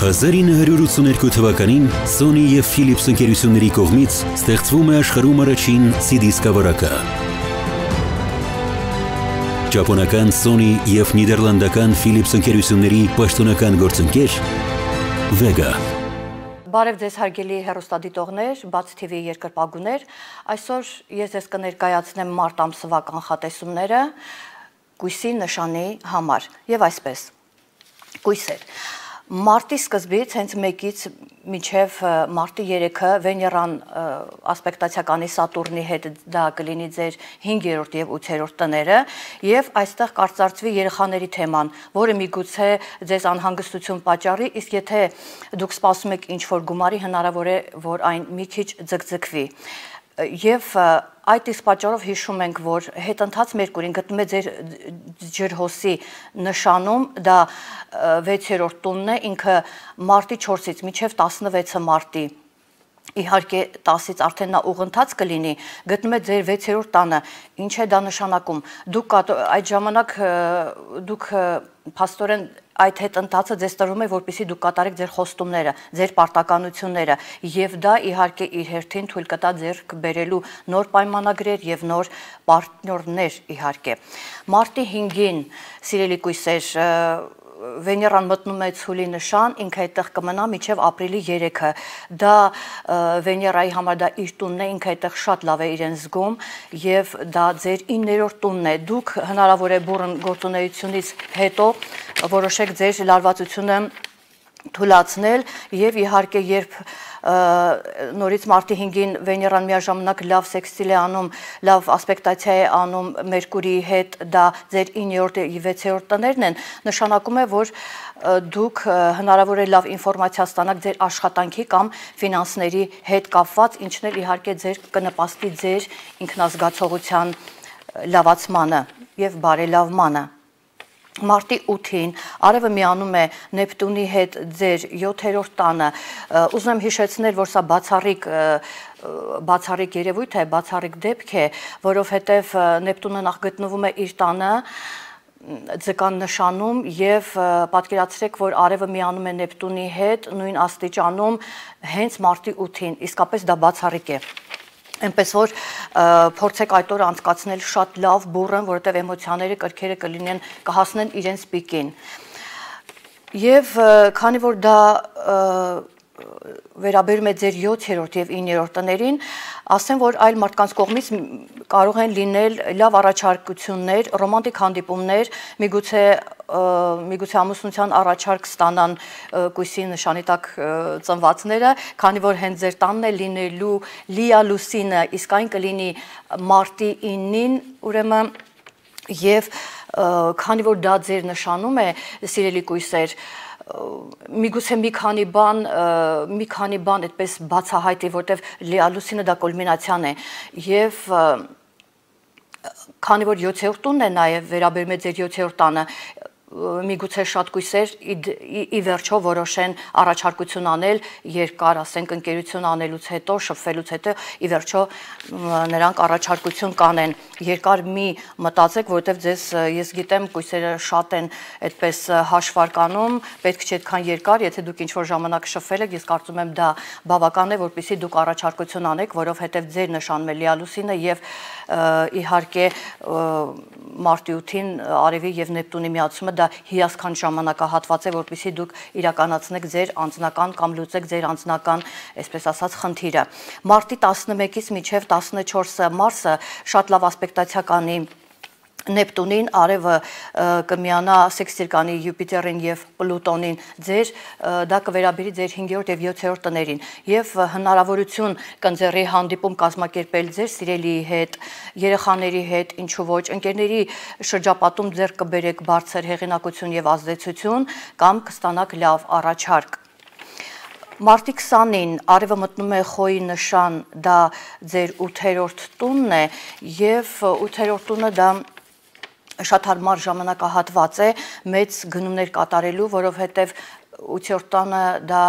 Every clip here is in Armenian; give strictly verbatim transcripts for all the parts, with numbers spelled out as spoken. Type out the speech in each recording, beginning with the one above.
հազար ինը հարյուր ութսուներկու թվականին Sony և Philips ընկերությունների կողմից ստեղծվում է աշխարհում առաջին սի դի սկավառակը։ Ճապոնական Sony և նիդերլանդական Philips ընկերությունների պաշտոնական գործընկեր Vega։ Բարև ձեզ հարգելի հեռուստադիտողներ, Բաց թի վի երկրպագուներ, այսօր ես ձեզ կներկայացնեմ մարտ ամսվա կանխատեսումները կույսի նշանի համար եւ այսպես։ Կույսեր։ Մարտի սկզբից հենց մեկից մինչև մարտի երեքը Վեներան ասպեկտացիականի Սատուրնի հետ դա կլինի ձեր հինգերորդ եւ ութերորդ տները եւ այստեղ կարծրացվի երեխաների թեման, որը միգուցե ձեզ անհանգստություն պատճառի, իսկ եթե դուք սպասում եք ինչ-որ գումարի, հնարավոր է, որ այն մի քիչ ձգձգվի։ Եվ այդ իսկ պատճառով հիշում ենք, որ հետընթաց Մերկուրին գտնում է ձեր ջրհոսի նշանում, դա վեցերորդ տունն է, ինքը մարտի չորսից մինչև տասնվեցը մարտի, իհարկե տասից արդեն նա ուղընթաց կլինի, գտնում է ձեր վեցերորդ տանը, ինչ է դա նշանակում, դուք այդ ժամանակ դուք փաստորեն այդ հետընթացը ձեզ տրվում է, որպեսզի դուք կատարեք ձեր խոստումները, ձեր պարտականությունները, եւ դա իհարկե իր հերթին թույլ կտա ձեռք բերելու նոր պայմանագրեր եւ նոր պարտներներ իհարկե։ Մարտի հինգին, սիրելի կույսեր, Վեներան մտնում է ցուլի նշան, ինքը այդտեղ կմնա մինչև ապրիլի երեքը։ Դա Վեներայի համար դա իր տունն է, ինքը այդտեղ շատ լավ է իրեն զգում եւ դա ձեր իններորդ տունն է։ Դուք հնարավոր է բուրըն գործունեությունից հետո որոշեք ձեր լարվածությունը թույլատրել եւ իհարկե երբ նորից մարտի հինգին Վեներան միաժամանակ լավ սեքստիլ է անում, լավ ասպեկտացիա է անում Մերկուրիի հետ, դա ձեր իններորդ եւ վեցերորդ տներն են, նշանակում է, որ դուք հնարավոր է լավ ինֆորմացիա ստանաք ձեր աշխատանքի կամ ֆինանսների հետ կապված, ինչն էլ իհարկե ձեր կնպաստի ձեր ինքնազգացողության լավացմանը եւ բարելավմանը։ Մարտի ութին արևը միանում է Նեպտունի հետ ձեր յոթերորդ տանը, ուզում եմ հիշեցնել, որ սա բացառիկ բացառիկ երևույթ է, բացառիկ դեպք է, որովհետև Նեպտունը նախ գտնվում է իր տանը ձկան նշանում եւ պատկերացրեք, որ արևը միանում է Նեպտունի հետ նույն աստիճանում հենց մարտի ութին, իսկապես դա բացառիկ է։ Այնպես որ փորձեք այդ օրը անցկացնել շատ լավ, բուրըն, որովհետև էմոցիաները կրքերը կլինեն, կհասնեն իրենց պիկին։ Եվ քանի որ դա վերաբերում է ձեր յոթերորդ եւ իններորդ տներին, ասեմ, որ այլ մարդկանց կողմից կարող են լինել լավ առաջարկություններ, ռոմանտիկ հանդիպումներ, միգուցե միգուցե ամուսնության առաջարկ ստանան կույսի նշանի տակ ծնվածները, քանի որ հենց ձեր տանն է լինելու լիա լուսինը, իսկ այն կլինի մարտի իննին, ուրեմն եւ քանի որ դա ձեր նշանում է, սիրելի կույսեր, միգուցե մի քանի բան, մի քանի բան այդպես բացահայտի, որտեվ լիա լուսինը դա կուլմինացիան է եւ քանի որ յոթերորդ տունն է նաեւ վերաբերում է ձեր յոթերորդ տանը, միգուցե շատ կույսեր ի վերջո որոշեն առաջարկություն անել, երկար, ասենք, ընկերություն անելուց հետո, շփվելուց հետո ի վերջո նրանք առաջարկություն կանեն։ Երկար մի մտածեք, որովհետև ձեզ ես գիտեմ կույսերը շատ են այդպես հաշվարկանում, պետք չէ այդքան երկար, եթե դուք ինչ-որ ժամանակ շփվել եք, ես կարծում եմ դա բավական է, որպեսզի դուք առաջարկություն անեք, որովհետև ձեր նշանում է լիա լուսինը եւ իհարկե մարտի ութին արևի եւ Նեպտունի միացումը դա հիասքանչ ժամանակահատված է, որպեսզի դուք իրականացնեք ձեր անձնական կամ լուծեք ձեր անձնական, այսպես ասած, խնդիրը։ Մարտի տասնմեկից մինչև տասնչորսը մարսը շատ լավ ասպեկտացիա կանի Նեպտունին, արևը կմիանա սեքստիլ կանի Յուպիտերին եւ Պլուտոնին, ձեր դա կվերաբերի ձեր հինգերորդ եւ յոթերորդ տներին եւ հնարավորություն կընձեռի հանդիպում կազմակերպել ձեր սիրելիի հետ, երեխաների հետ, ինչու ոչ, ընկերների շրջապատում ձեռք կբերեք բարձր հեղինակություն եւ ազդեցություն կամ կստանաք լավ առաջարկ։ Մարտի քսանին արևը մտնում է խոյի նշան, դա ձեր ութերորդ տունն է եւ ութերորդ տունը դա շատ հարմար ժամանակահատված է մեծ գնումներ կատարելու, որովհետև ութերորդ տանը դա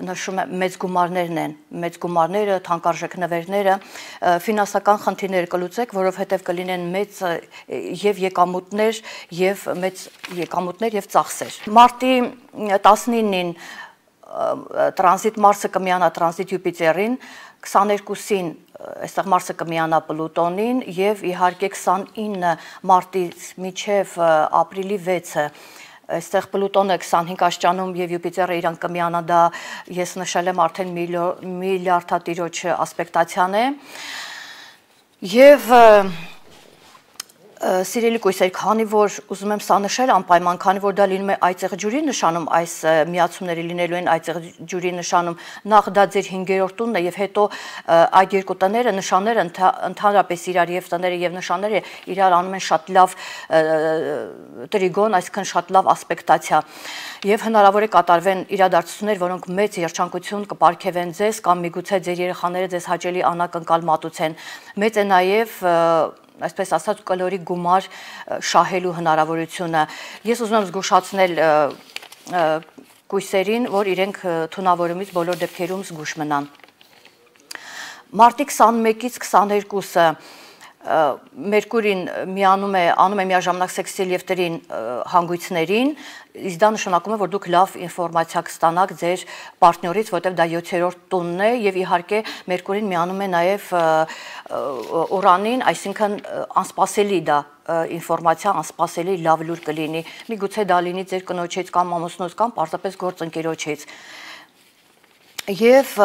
նշում է մեծ գումարներն են, մեծ գումարները, թանկարժեք նվերները, ֆինանսական խնդիրներ կլուծեք, որովհետև կլինեն մեծ եւ եկամուտներ եւ մեծ եկամուտներ եւ ծախսեր։ Մարտի տասնինին տրանզիտ Մարսը կմիանա տրանզիտ Յուպիտերին, քսաներկուսին այստեղ Մարսը կմիանա Պլուտոնին եւ իհարկե քսանինը մարտից մինչեւ ապրիլի վեցը այստեղ Պլուտոնը քսանհինգ աստիճանում եւ Յուպիտերը իրան կմիանա, դա ես նշել եմ արդեն միլիարդատիրոջ ասպեկտացիան է եւ Սիրելի կույսեր, քանի որ ուզում եմ սա նշել անպայման, քանի որ դա լինում է այծեղ ջուրի նշանում, այս միացումները լինելու են այծեղ ջուրի նշանում, նախ դա ձեր հինգերորդ տունն է եւ հետո այդ երկու տները նշանները ընդհանրապես իրար եւ տները եւ նշանները իրար անում են շատ լավ տրիգոն, այսինքն շատ լավ ասպեկտացիա եւ հնարավոր է կատարվեն իրադարձություններ, որոնք մեծ երջանկություն կպարգևեն ձեզ կամ միգուցե ձեր երեխաները ձեզ հաճելի անակնկալ մատուցեն։ Մեծ է նաեւ այսպես ասած կալորի գումար շահելու հնարավորությունը։ Ես ուզում եմ զգուշացնել կույսերին, որ իրենք թունավորումից բոլոր դեպքերում զգուշ մնան։ Մարտի քսանմեկից քսաներկուսը Մերկուրին միանում է, անում է միաժամանակ սեքսիլ եւ տրին հանգույցներին, իսկ դա նշանակում է, որ դուք լավ ինֆորմացիա կստանաք ձեր պարտներից, որտեղ դա յոթերորդ տունն է եւ իհարկե Մերկուրին միանում է նաեւ Ուրանին, այսինքն անսպասելի դա ինֆորմացիա, անսպասելի լավ լուր կլինի։ Միգուցե դա լինի ձեր կնոջից կամ ամուսնուց կամ պարզապես գործընկերոջից։ Եվ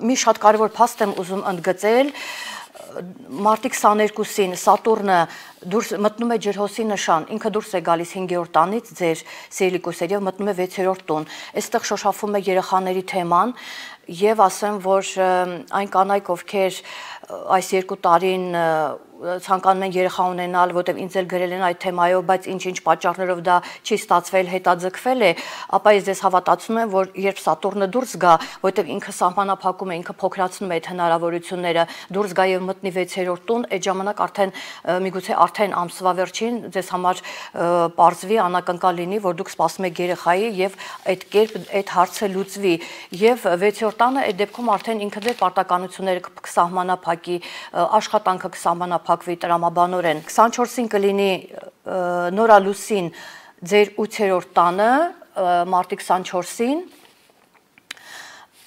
մի շատ կարևոր փաստ եմ ուզում ընդգծել, Մարտի քսաներկուսին Սատուրնը դուրս մտնում է ջրհոսի նշան, ինքը դուրս է գալիս հինգերորդ տանից ձեր սիրելի կույսեր եւ մտնում է վեցերորդ տուն։ Այստեղ շոշափում է երեխաների թեման եւ ասեմ, որ այն կանայք, ովքեր այս երկու տարին ցանկանում են երեխա ունենալ, որտեղ ինձ էլ գրել են այդ թեմայով, բայց ինչ-ինչ պատճառներով դա չի ստացվել, հետաձգվել է, ապա ես ձեզ հավատացնում եմ, որ երբ Սատուրնը դուրս գա, որտեղ ինքը սահմանափակում է, ինքը փոքրացնում է այդ հնարավորությունները, դուրս գա եւ մտնի վեցերորդ տուն, այդ ժամանակ արդեն միգուցե արդեն ամսվա վերջին ձեզ համար պարզվի անակնկալ լինի, որ դուք սպասում եք երեխայի եւ այդ կերպ այդ հարցը լուծվի եւ վեցերորդ տանը այդ դեպքում արդեն ինքը ձեր պարտականությունները կսահմանափակի, աշխատանքը կսահմանափակվի տրամաբանորեն։ քսանչորսին կլինի նորալուսին ձեր ութերորդ տանը, մարտի քսանչորսին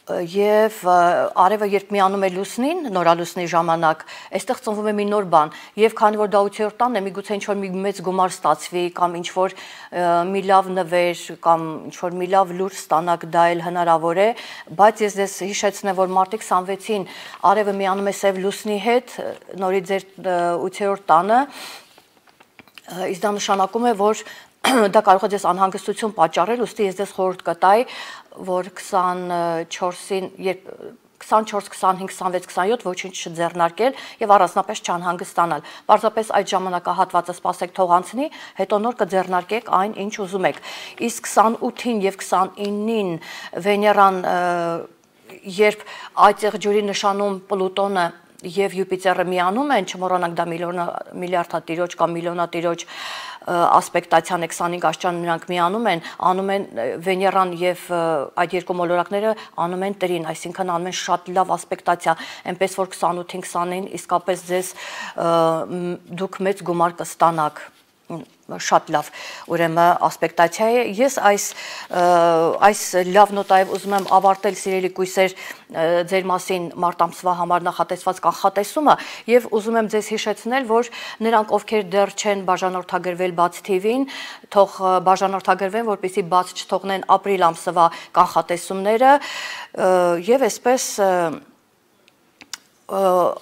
եւ արևը երբ միանում է լուսնին, նորալուսնի ժամանակ, այստեղ ծնվում է մի նոր բան եւ քանի որ դա ութերորդ տանն է, միգուցե ինչ-որ մի մեծ գումար ստացվի կամ ինչ-որ մի լավ նվեր կամ ինչ-որ մի լավ լուր ստանաք, դա էլ հնարավոր է, բայց ես ձեզ հիշեցնեմ, որ մարտի քսանվեցին արևը միանում է սև լուսնի հետ, նորից ձեր ութերորդ տանը, իսկ դա նշանակում է, որ դա կարող է ձեզ անհանգստություն պատճառել, ուստի ես ձեզ խորհուրդ կտայի, որ քսանչորսին, քսանչորս, քսանհինգ, քսանվեց, քսանյոթ ոչինչ չձեռնարկել եւ առանձնապես չանհանգստանալ։ Պարզապես այդ ժամանակահատվածը սպասեք թող անցնի, հետո նոր կձեռնարկեք այն, ինչ ուզում եք։ Իսկ քսանութին եւ քսանինին Վեներան, երբ այծեղ ջուրի նշանում Պլուտոնը եւ Յուպիտերը միանում են, չմոռանանք դա միլիարդատիրոջ կամ միլիոնատիրոջ ասպեկտացիան է, քսանհինգ աստիճան նրանք միանում են, անում են Վեներան եւ այդ երկու մոլորակները անում են տրին, այսինքն անում են շատ լավ ասպեկտացիա, այնպես որ քսանութին քսանին իսկապես ձեզ դուք մեծ գումար կստանաք, շատ լավ, ուրեմն ասպեկտացիա է։ Ես այս այս լավ նոտայով ուզում եմ ավարտել, սիրելի կույսեր, ձեր մասին մարտ ամսվա համար նախատեսված կանխատեսումը եւ ուզում եմ ձեզ հիշեցնել, որ նրանք, ովքեր դեռ չեն բաժանորդագրվել Բաց թի վին, թող բաժանորդագրվեն, որպեսզի բաց չթողնեն ապրիլ ամսվա կանխատեսումները եւ այսպես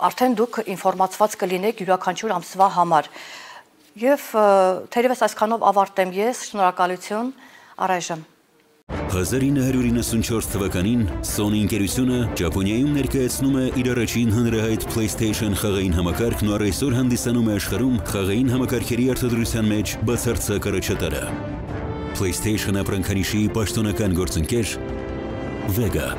արդեն դուք ինֆորմացված կլինեք յուրաքանչյուր ամսվա համար։ Եվ թերևս այսքանով ավարտեմ ես, շնորհակալություն, առայժմ։ հազար ինը հարյուր իննսունչորս թվականին Sony ընկերությունը Ճապոնիայում ներկայացնում է իր առաջին հանրահայտ PlayStation խաղային համակարգն ու այսօր հանդիսանում է աշխարհում խաղային համակարգերի արտադրության մեջ բացարձակ առաջատարը։ PlayStation ապրանքանիշի պաշտոնական գործընկեր Vega